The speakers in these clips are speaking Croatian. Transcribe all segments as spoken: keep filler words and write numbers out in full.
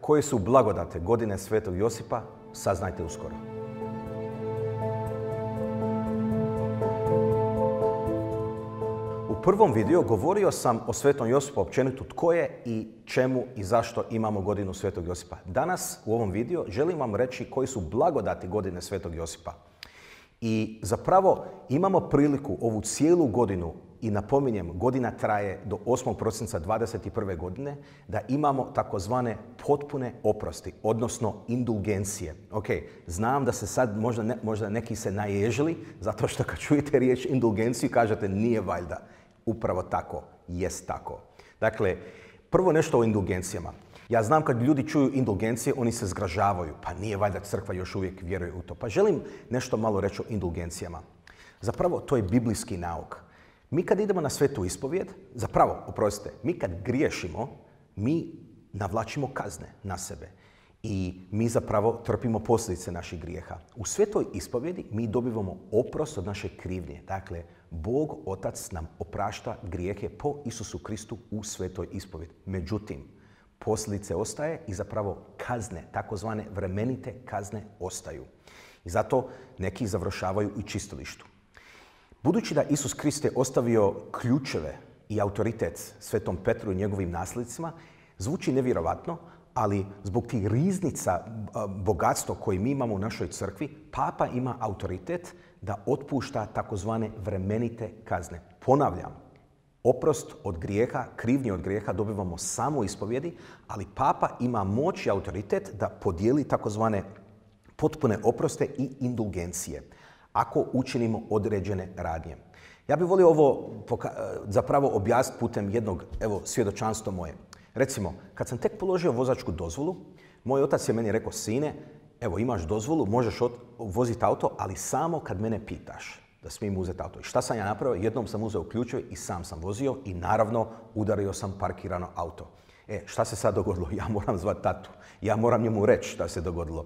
koje su blagodate godine Svetog Josipa, saznajte uskoro. U prvom videu govorio sam o Svetom Josipu općenito tko je i čemu i zašto imamo godinu Svetog Josipa. Danas u ovom videu želim vam reći koji su blagodati godine Svetog Josipa. I zapravo imamo priliku ovu cijelu godinu, i napominjem, godina traje do osmog prosinca dvadeset prve godine, da imamo takozvane potpune oprosti, odnosno indulgencije. Ok, znam da se sad možda, ne, možda neki se naježili, zato što kad čujete riječ indulgenciju kažete nije valjda. Upravo tako, jest tako. Dakle, prvo nešto o indulgencijama. Ja znam kad ljudi čuju indulgencije, oni se zgražavaju. Pa nije valjda crkva još uvijek vjeruje u to. Pa želim nešto malo reći o indulgencijama. Zapravo, to je biblijski nauk. Mi kad idemo na svetu ispovijed, zapravo, oprostite, mi kad griješimo, mi navlačimo kazne na sebe. I mi zapravo trpimo posljedice naših grijeha. U svetoj ispovjedi mi dobivamo oprost od naše krivnje. Dakle, Bog Otac nam oprašta grijehe po Isusu Kristu u svetoj ispovjedi. Međutim, posljedice ostaje i zapravo kazne, takozvane vremenite kazne ostaju. I zato neki završavaju u čistilištu. Budući da Isus Krist je ostavio ključeve i autoritet Svetom Petru i njegovim nasljednicima, zvuči nevjerovatno, ali zbog tih riznica bogatstva koje mi imamo u našoj crkvi, Papa ima autoritet da otpušta takozvane vremenite kazne. Ponavljam, oprost od grijeha, krivnje od grijeha dobivamo samo u ispovjedi, ali Papa ima moć i autoritet da podijeli takozvane potpune oproste i indulgencije ako učinimo određene radnje. Ja bih volio ovo zapravo objasniti putem jednog, evo, svjedočanstva moje. Recimo, kad sam tek položio vozačku dozvolu, moj otac je meni rekao, sine, evo imaš dozvolu, možeš voziti auto, ali samo kad mene pitaš da smijem uzeti auto. I šta sam ja napravio? Jednom sam uzeo ključeve i sam sam vozio i naravno udario sam parkirano auto. E, šta se sad dogodilo? Ja moram zvati tatu. Ja moram njemu reći šta se dogodilo.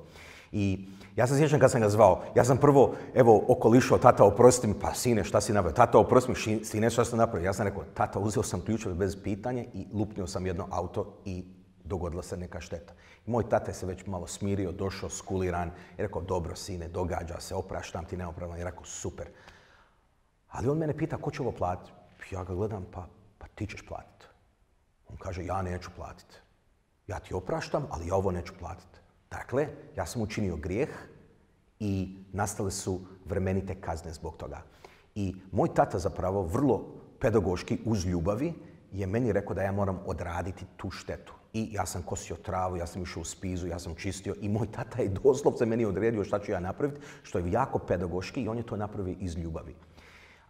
I ja se sjećam kad sam ga zvao, ja sam prvo, evo, okolišao, tata oprosti mi, pa sine, šta si napravio? Tata oprosti mi, sine, šta sam napravio? Ja sam rekao, tata, uzeo sam ključeve bez pitanja i lupnio sam jedno auto i dogodila se neka šteta. I moj tata je se već malo smirio, došao skuliran i rekao, dobro sine, događa se, opraštam ti neopravno. I rekao, super. Ali on mene pita, ko će ovo platiti? Ja ga gledam, pa, pa ti ćeš platiti. On kaže, ja neću platiti. Ja ti opraštam, ali ja ovo neću platiti. Dakle, ja sam učinio grijeh i nastale su vremenite kazne zbog toga. I moj tata zapravo vrlo pedagoški uz ljubavi je meni rekao da ja moram odraditi tu štetu. I ja sam kosio travu, ja sam išao u spizu, ja sam čistio i moj tata je doslovce meni odredio šta ću ja napraviti, što je jako pedagoški i on je to napravio iz ljubavi.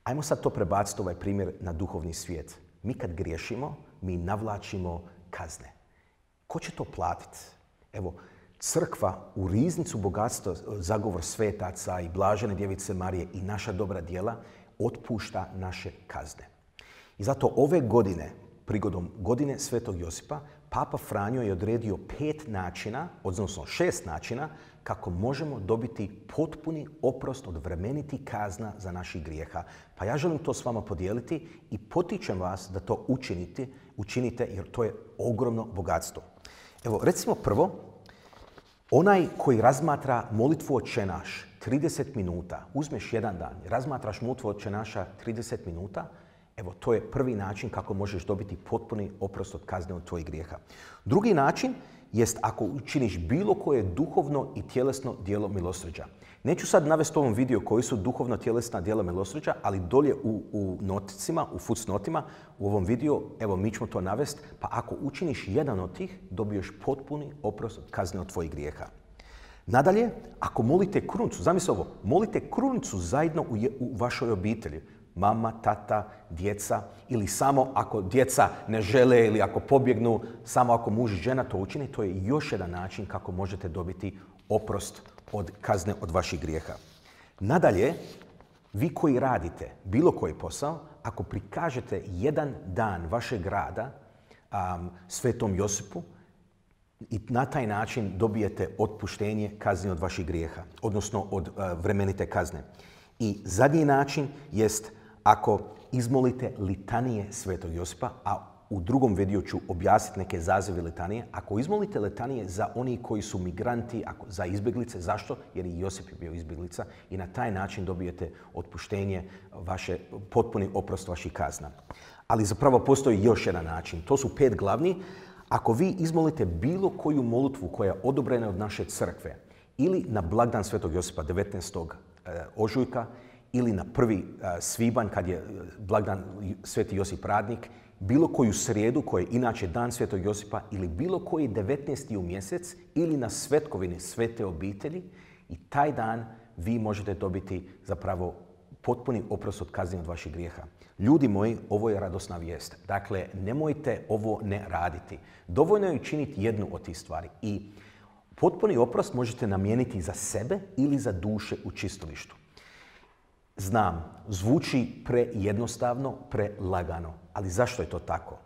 Ajmo sad to prebaciti ovaj primjer na duhovni svijet. Mi kad griješimo, mi navlačimo kazne. Ko će to platiti? Evo, crkva u riznicu bogatstva, zagovor svetaca i blažene djevice Marije i naša dobra djela otpušta naše kazne. I zato ove godine, prigodom godine Svetog Josipa, Papa Franjo je odredio pet načina, odnosno šest načina, kako možemo dobiti potpuni oprost od vremenitih kazna za naših grijeha. Pa ja želim to s vama podijeliti i potičem vas da to učinite, učinite jer to je ogromno bogatstvo. Evo, recimo prvo, onaj koji razmatra molitvu Oče naš trideset minuta, uzmeš jedan dan, razmatraš molitvu Oče naša trideset minuta, evo to je prvi način kako možeš dobiti potpuni oprost od kazne od tvojih grijeha. Drugi način jest ako učiniš bilo koje duhovno i tjelesno djelo milosrđa. Neću sad navesti u ovom videu koji su duhovno tjelesna djela milosrđa, ali dolje u, u noticima, u footnotima, u ovom videu, evo mi ćemo to navesti, pa ako učiniš jedan od tih, dobiješ potpuni oprost od kazne od tvojih grijeha. Nadalje, ako molite krunicu, zamisli ovo, molite krunicu zajedno u, je, u vašoj obitelji, mama, tata, djeca, ili samo ako djeca ne žele ili ako pobjegnu, samo ako muž i žena to učini, to je još jedan način kako možete dobiti oprost od kazne od vaših grijeha. Nadalje, vi koji radite bilo koji posao, ako prikažete jedan dan vašeg rada um, Svetom Josipu, i na taj način dobijete otpuštenje kazni od vaših grijeha, odnosno od uh, vremenite kazne. I zadnji način jest ako izmolite litanije Svetog Josipa, a u drugom videu ću objasniti neke zazive litanije. Ako izmolite litanije za oni koji su migranti, ako, za izbjeglice, zašto? Jer i Josip je bio izbjeglica i na taj način dobijete otpuštenje, vaše, potpuni oprost vaših kazna. Ali zapravo postoji još jedan način. To su pet glavni. Ako vi izmolite bilo koju molitvu koja je odobrena od naše crkve ili na blagdan Svetog Josipa devetnaestog ožujka ili na prvi svibanj kad je blagdan Sveti Josip Radnik, bilo koju srijedu koja je inače dan Svetog Josipa ili bilo koji devetnaesti u mjesec ili na svetkovine Svete obitelji i taj dan vi možete dobiti zapravo potpuni oprost od kazni od vaših grijeha. Ljudi moji, ovo je radosna vijest. Dakle, nemojte ovo ne raditi. Dovoljno je učiniti jednu od tih stvari i potpuni oprost možete namijeniti za sebe ili za duše u čistilištu. Znam, zvuči prejednostavno, prelagano, ali zašto je to tako?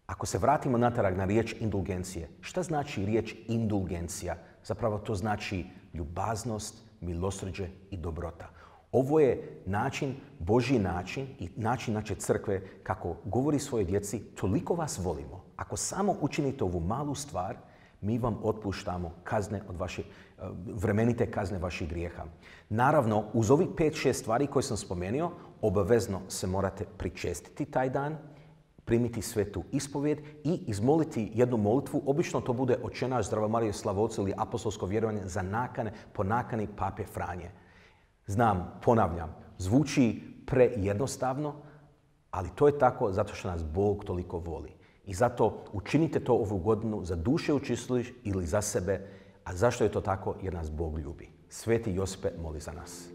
Ako se vratimo natrag na riječ indulgencije, šta znači riječ indulgencija? Zapravo to znači ljubaznost, milosrđe i dobrota. Ovo je način, Božji način i način naše crkve kako govori svojoj djeci, toliko vas volimo. Ako samo učinite ovu malu stvar, mi vam otpuštamo kazne od vaše, vremenite kazne vaših grijeha. Naravno, uz ovih pet šest stvari koje sam spomenuo, obavezno se morate pričestiti taj dan, primiti svetu ispovijed i izmoliti jednu molitvu. Obično to bude Oče naš, Zdrava Marijo, slava Otcu ili apostolsko vjerovanje za nakane, po nakani Pape Franje. Znam, ponavljam, zvuči prejednostavno, ali to je tako zato što nas Bog toliko voli. I zato učinite to ovu godinu za duše u čistilištu ili za sebe. A zašto je to tako? Jer nas Bog ljubi. Sveti Josipe, moli za nas.